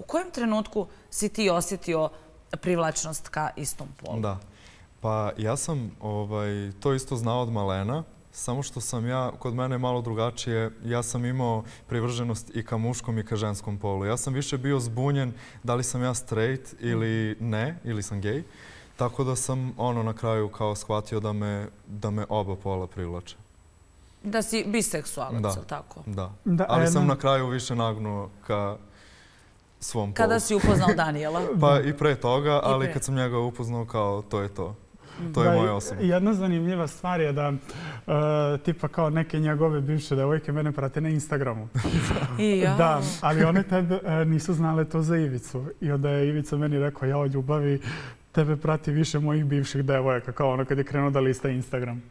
U kojem trenutku si ti osjetio privlačnost ka istom polu? Da. Pa ja sam to isto znao od malena, samo što sam kod mene malo drugačije, ja sam imao privrženost i ka muškom i ka ženskom polu. Ja sam više bio zbunjen da li sam ja straight ili ne, ili sam gej. Tako da sam na kraju kao shvatio da me oba pola privlače. Da si biseksualac, ili tako? Da. Ali sam na kraju više nagnuo ka svom polu. Kada si upoznao Danijela? Pa i pre toga, ali kad sam njega upoznao kao to je to. To je moja osoba. Jedna zanimljiva stvar je da tipa kao neke njegove bivše devojke mene prate na Instagramu. Da, ali one tebe nisu znale to za Ivicu. I onda je Ivica meni rekao, ja o ljubavi, tebe prati više mojih bivših devojaka, kao ono kad je krenuo da lista Instagram.